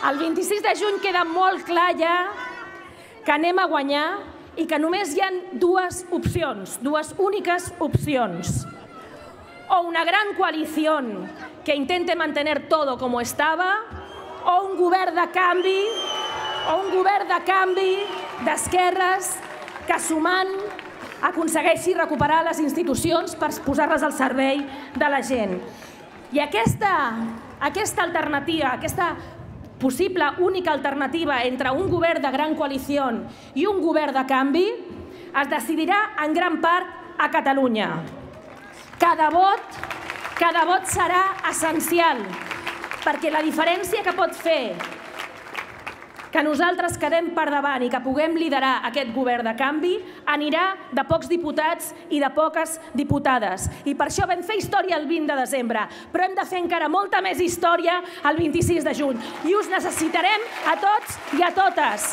El 26 de juny queda molt clar ja que anem a guanyar i que només hi ha dues opcions, dues úniques opcions. O una gran coalición que intente mantener todo como estaba, o un govern de canvi d'esquerres que sumant aconsegueixi recuperar les institucions per posar-les al servei de la gent. I aquesta alternativa, aquesta possible única alternativa entre un govern de gran coalició i un govern de canvi es decidirà en gran part a Catalunya. Cada vot serà essencial, perquè la diferència que pot fer que nosaltres quedem per davant i que puguem liderar aquest govern de canvi anirà de pocs diputats i de poques diputades. I per això vam fer història el 20 de desembre, però hem de fer encara molta més història el 26 de juny. I us necessitarem a tots i a totes.